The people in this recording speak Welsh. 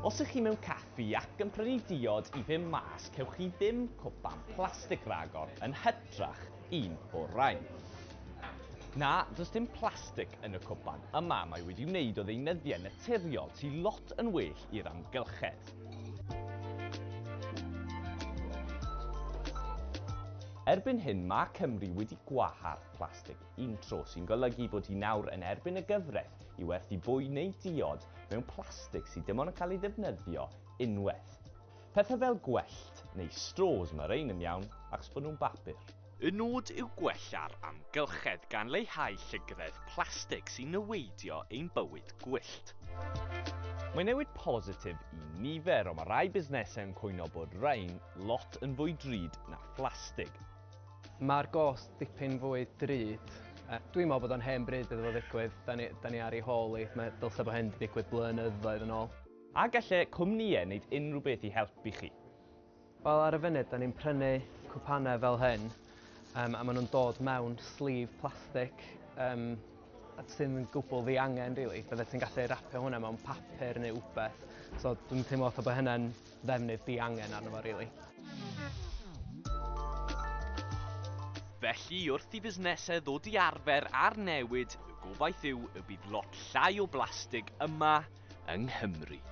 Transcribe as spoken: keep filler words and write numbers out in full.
Os ych chi mewn caffi ac yn prynu diod i fynd mas, cewch chi ddim cwpan plastig ragor, yn hytrach un o'r rhain. Na, does dim plastig yn y cwpan yma, mae wedi wneud o ddeunyddiau naturiol sy'n lot yn well i'r amgylchedd. Erbyn hyn, mae Cymru wedi gwahardd plastig untro, sy'n golygu bod hi nawr yn erbyn y gyfraith i werthu bwyd neu diod mewn plastig sydd dim ond yn cael ei ddefnyddio unwaith. Pethau fel gwellt neu straws, mae rhain yn iawn achos bod nhw'n bapur. Y nod yw gwella'r amgylchedd gan leihau llygredd plastig sy'n niweidio ein bywyd gwyllt. Mae'n newid positif i nifer, ond mae rai busnesau yn cwyno bod rhain lot yn fwy drud na phlastig. Mae'r gost dipyn fwy drud. Dwi'n meddwl bod o'n hen bryd iddo fo ddigwydd. Da ni, da ni ar ei hôl hi. Mae dylse bod hyn wedi digwydd blynyddoedd yn ôl. A gallai cwmnïau wneud unrhyw beth i helpu chi? Wel, ar y funud, da ni'n prynu cwpanau fel hyn, um, a maen nhw'n dod mewn sleeve plastig um, sy'n gwbl ddiangen, really. Bydde ti'n gallu rapio hwnna mewn papur neu wbeth. So dwi'n teimlo fatha bod hynna'n ddefnydd diangen arno fo, really. Felly, wrth i fusnesau ddod i arfer a'r newid, y gobaith yw y bydd lot llai o blastig yma yng Nghymru.